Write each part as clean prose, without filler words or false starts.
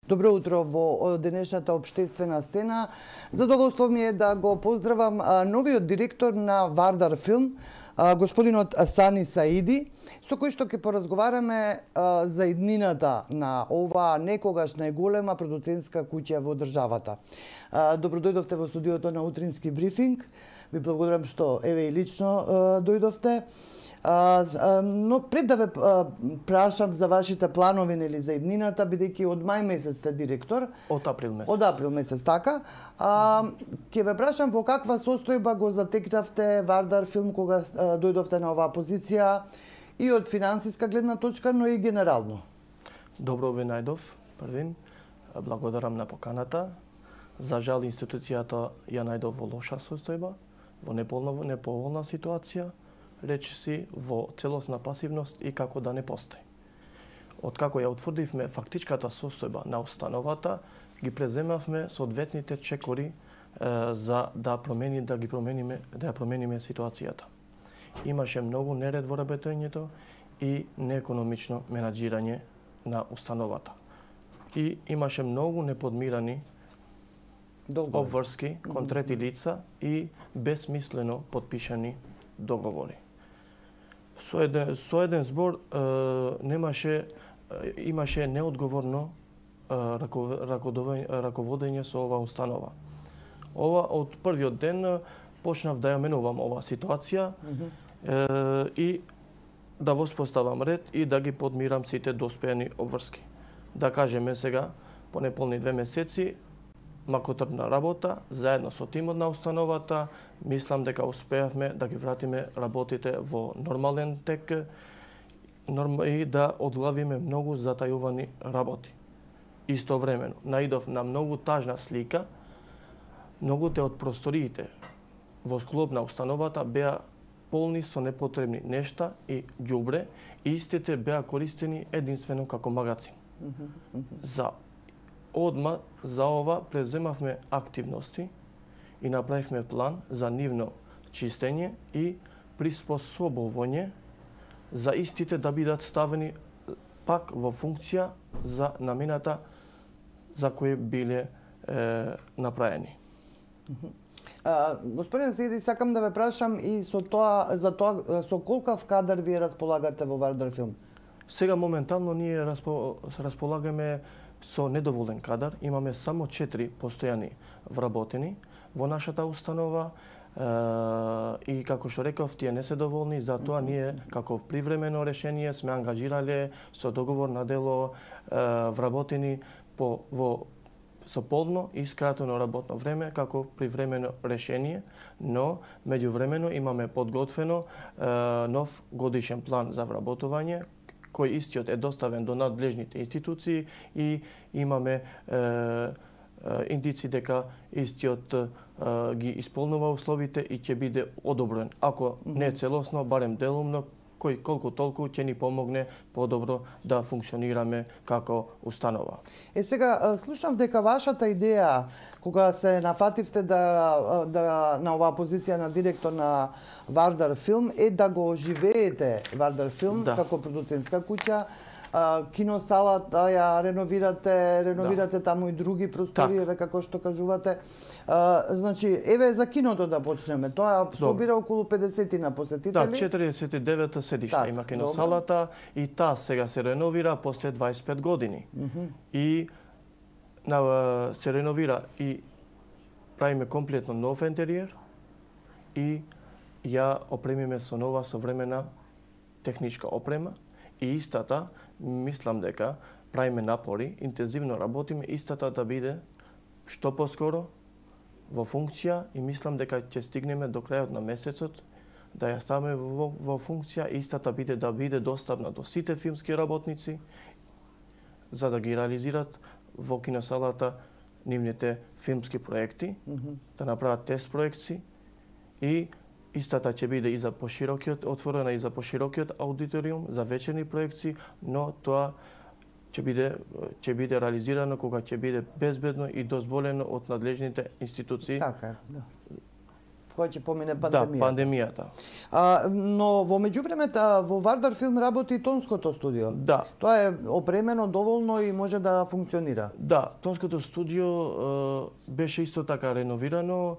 Добро утро во денешната општествена сцена. Задоволство ми е да го поздравам новиот директор на Вардар Филм, господинот Сани Саиди, со кој што ќе поразговараме за иднината на ова некогаш најголема продуцентска куќа во државата. Добро дојдовте во студиото на Утрински брифинг. Ви благодарам што еве и лично дојдовте. Но пред да ве прашам за вашите планови нели за иднината, бидејќи од мај месец сте директор. Од април месец. Од април месец, така. Ќе ве прашам во каква состојба го затекнавте Вардар Филм кога дојдовте на оваа позиција и од финансиска гледна точка, но и генерално. Добро ве најдов, првин. Благодарам на поканата. За жал институцијата ја најдов во лоша состојба, во неповолна ситуација, речиси во целосна пасивност и како да не постои. Откако ја утврдивме фактичката состојба на установата, ги преземавме соодветните чекори за да ја промениме ситуацијата. Имаше многу неред во работењето и неекономично менаџирање на установата. И имаше многу неподмирани обврски кон трети лица и безсмислено подпишани договори. Со еден збор имаше неодговорно раководење со ова установа. Ова од првиот ден почнав да ја менувам оваа ситуација и да воспоставам ред и да ги подмирам сите доспеани обврски. Да кажеме сега, по неполни 2 месеци, макотрпна работа, заедно со тимот на установата, мислам дека успеавме да ги вратиме работите во нормален тек и да одглавиме многу затајувани работи. Истовремено, наидов на многу тажна слика, многуте од просториите во склоп на установата беа полни со непотребни нешта и ѓубре, и истите беа користени единствено како магазин. Одма за ова преземавме активности и направивме план за нивно чистење и приспособување за истите да бидат ставени пак во функција за намената за кои биле направени. Господин Саиди, сакам да ве прашам и со колкав кадар вие располагате во Вардар Филм? Сега моментално ние располагаме со недоволен кадар. Имаме само 4 постојани вработени во нашата установа и како што реков, тие не се доволни, затоа ние како привремено решение сме ангажирале со договор на дело вработени со полно и скратено работно време како привремено решение, но меѓувремено имаме подготвено нов годишен план за вработување, кој истиот е доставен до надлежните институции и имаме индици дека истиот ги исполнува условите и ќе биде одобрен. Ако не целосно, барем делумно, кој колку толку ќе ни помогне подобро да функционираме како установа. Сега слушав дека вашата идеја кога се нафативте на оваа позиција на директор на Вардар Филм е да го оживеете Вардар Филм како продуцентска куќа. Киносалата ја реновирате таму и други простори, еве како што кажувате. Значи, еве за киното да почнеме. Тоа собира околу 50 посетители. Да, 49 седишта има киносалата и таа сега се реновира после 25 години. И се реновира и правиме комплетно нов интериер и ја опремиме со нова современа техничка опрема. И истата, мислам дека правиме напори, интензивно работиме истата да биде што поскоро во функција и мислам дека ќе стигнеме до крајот на месецот да ја ставиме во функција истата да биде достапна до сите филмски работници за да ги реализират во киносалата нивните филмски проекти, да направат тест проекции и истата ќе биде и за поширокиот, отворена и за поширокиот аудиториум, за вечерни проекции, но тоа ќе биде реализирано кога ќе биде безбедно и дозволено од надлежните институции. Така, да. кога ќе помине пандемијата. Да, пандемијата. Но во меѓувремето во Вардар Филм работи и тонското студио. Да. Тоа е опремено доволно и може да функционира. Да, тонското студио беше исто така реновирано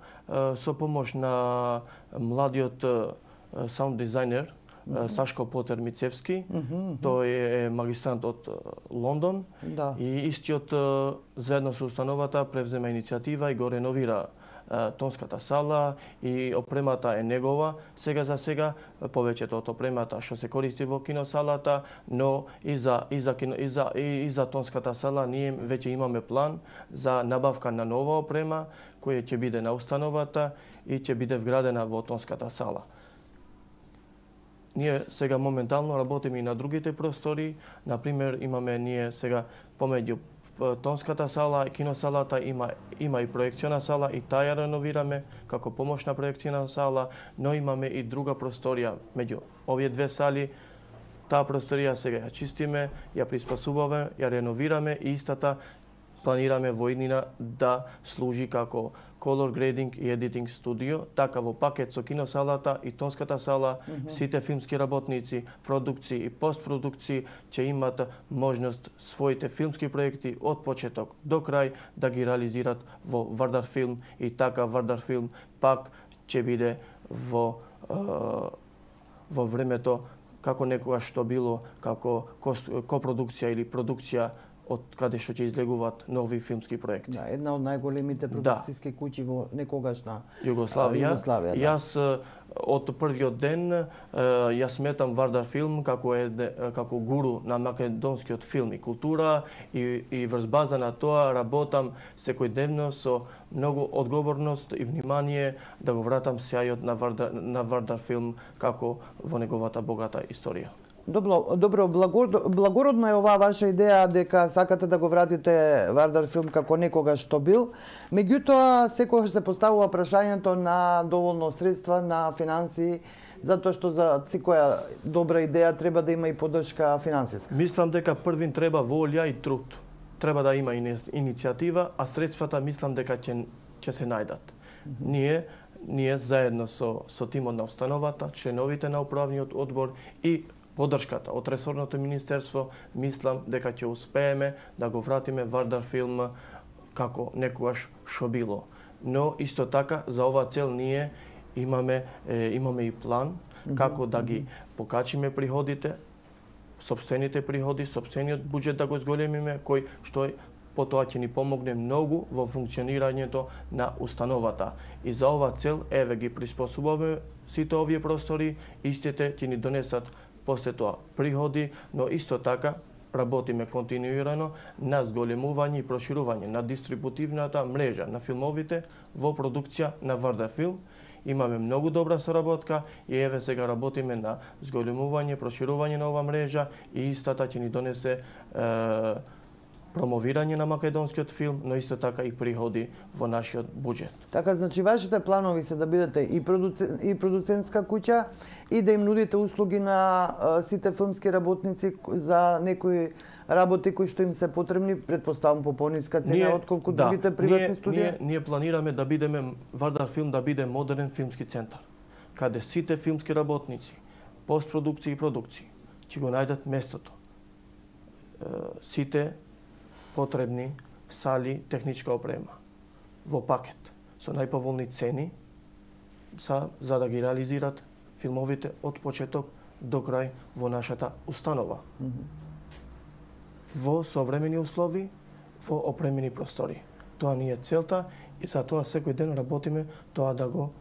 со помош на младиот саунд дизајнер Сашко Потер Мицевски. Тој е магистрант од Лондон. Да. И истиот заедно со установата превзема иницијатива и го реновира тонската сала и опремата е негова. Сега за сега повеќето од опремата што се користи во киносалата, но и за тонската сала ние веќе имаме план за набавка на нова опрема која ќе биде на установата и ќе биде вградена во тонската сала. Ние сега моментално работиме и на другите простори. Например, имаме ние сега помеѓу тонската сала и киносалата има и проекциона сала и таа ја реновираме како помошна проекциона сала, но имаме и друга просторија меѓу овие две сали. Таа просторија сега ја чистиме, ја приспособуваме, ја реновираме и истата планираме во иднина да служи како color grading и editing студио, така во пакет со киносалата и тонската сала, сите филмски работници, продукции и постпродукции ќе имат можност своите филмски проекти од почеток до крај да ги реализират во Вардар Филм и така Вардар Филм пак ќе биде во времето како некогаш што било како копродукција или продукција од каде што ќе излегуваат нови филмски проекти. Да, една од најголемите продукциски куќи во некогашна Југославија. Да. Јас од првиот ден јас сметам Вардар Филм како гуру на македонскиот филм и култура и врз база на тоа работам секојдневно со многу одговорност и внимание да го вратам сјајот на Вардар Филм како во неговата богата историја. Добро, благородно е оваа ваша идеја дека сакате да го вратите Вардар Филм како некогаш што бил. Меѓутоа, секогаш се поставува прашањето на доволно средства, на финансии, затоа што за секоја добра идеја треба да има и поддршка финансиска. Мислам дека првин треба волја и труд. Треба да има иницијатива, а средствата мислам дека ќе се најдат. Ние заедно со тимот на установата, членовите на управниот одбор и поддршката од ресорното министерство, мислам дека ќе успееме да го вратиме Вардар Филм како некогаш што било. Но исто така за оваа цел ние имаме и план како да ги покачиме приходите, сопствените приходи, сопствениот буџет да го зголемиме, кој што потоа ќе ни помогне многу во функционирањето на установата. И за оваа цел еве ги приспособуваме сите овие простори, истите ќе ни донесат после тоа приходи, но исто така работиме континуирано на зголемување и проширување на дистрибутивната мрежа на филмовите во продукција на Вардар Филм. Имаме многу добра соработка и еве сега работиме на зголемување, проширување на оваа мрежа и истата ќе ни донесе промовирање на македонскиот филм, но исто така и приходи во нашиот буџет. Така, значи, вашите планови се да бидете и продуцентска куќа и да им нудите услуги на сите филмски работници за некои работи кои што им се потребни, предпоставам по пониска цена отколку другите приватни студии? Ние планираме да бидеме, Вардар Филм да биде модерен филмски центар, каде сите филмски работници, постпродукции и продукции ќе го најдат местото. Сите потребни сали, техничка опрема во пакет со најповолни цени за да ги реализират филмовите од почеток до крај во нашата установа. Во современи услови, во опремени простори. Тоа ни е целта и за тоа секој ден работиме тоа да го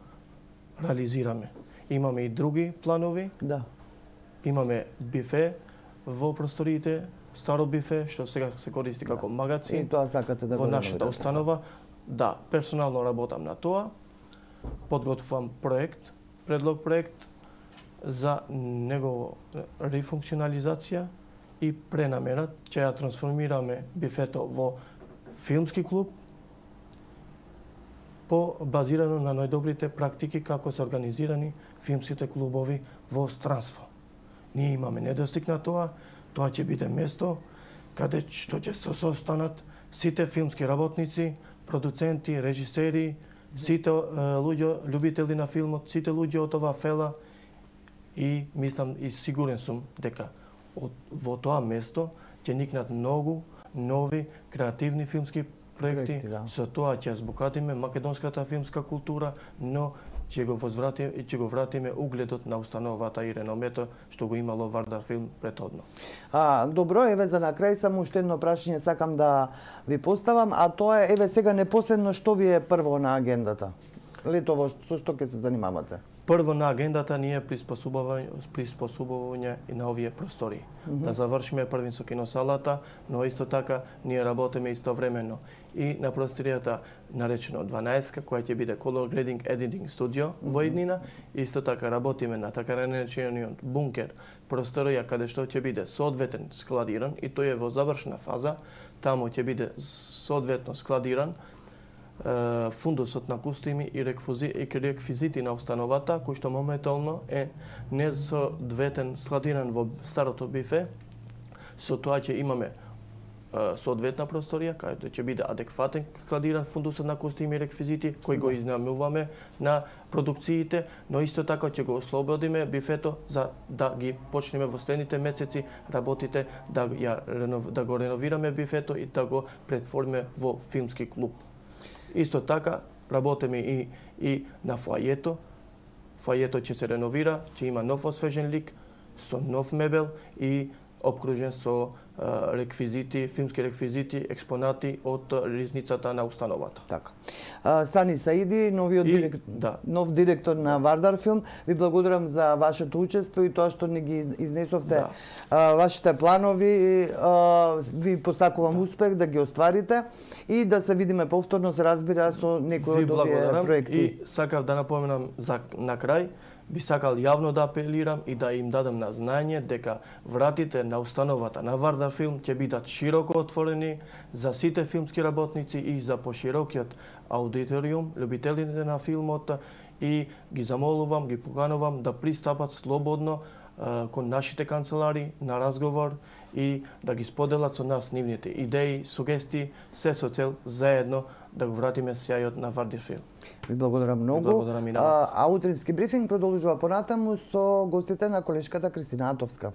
реализираме. Имаме и други планови. Да. Имаме бифе во просториите, старо бифе, што сега се користи како магазин. И тоа сакате да го во нашата установа. Да, персонално работам на тоа. Подготвувам предлог проект за негово рефункционализација и пренамера. Ќе ја трансформираме бифето во филмски клуб базирано на најдобрите практики како се организирани филмските клубови во странство. Ние имаме недостиг на тоа. Тоа ќе биде место каде што ќе се состанат сите филмски работници, продуценти, режисери, сите луѓе љубители на филмот, сите луѓе од оваа фела и мислам и сигурен сум дека во тоа место ќе никнат многу нови креативни филмски проекти, со тоа ќе збогатиме македонската филмска култура, но ќе го вратиме угледот на установата и реномето што го имало Вардар филм претходно. Добро, еве за на крај само уште едно прашање сакам да ви поставам, а тоа е еве сега непосредно што ви е прво на агендата? Летово со што ќе се занимавате? Прво на агендата ни е приспособување на овие простори. Да завршиме првин со киносалата, но исто така ние работиме истовремено и на просторијата наречено 12, која ќе биде Color Grading Editing Studio во иднина. Исто така работиме на така наречениот бункер, просторија каде што ќе биде соодветен складиран и тој е во завршна фаза. Таму ќе биде соодветно складиран фундусот на костуми и реквизити на установата, кој што моментално е несоодветен складиран во старото бифе. Со тоа ќе имаме соодветна просторија, каде ќе биде адекватен складиран фундусот на костуми и реквизити, кој го изнамуваме на продукциите, но исто така ќе го ослободиме бифето за да ги почнеме во следните месеци работите да го реновираме бифето и да го претвориме во филмски клуб. Исто така работиме и на фоајето. Фоајето ќе се реновира, ќе има нов освежен лик, со нов мебел и обкружен со реквизити, филмски реквизити, експонати од ризницата на установата. Така. Сани Саиди, нов директор на Вардар филм, ви благодарам за вашето учество и тоа што ни ги изнесовте вашите планови. Ви посакувам успех да ги остварите и да се видиме повторно, се разбира, со некои од овие проекти. И сакав да напоменам на крај, би сакал јавно да апелирам и да им дадам на знање дека вратите на установата на Вардар филм ќе бидат широко отворени за сите филмски работници и за поширокиот аудиториум, љубителите на филмот, и ги замолувам, ги поканувам да пристапат слободно кон нашите канцелари на разговор и да ги споделат со нас нивните идеи, сугестии, се со цел заедно да го вратиме сјајот на Вардар филм. Ви благодарам многу. Благодарам и на вас. А утрински брифинг продолжува понатаму со гостите на колешката Кристина Атовска.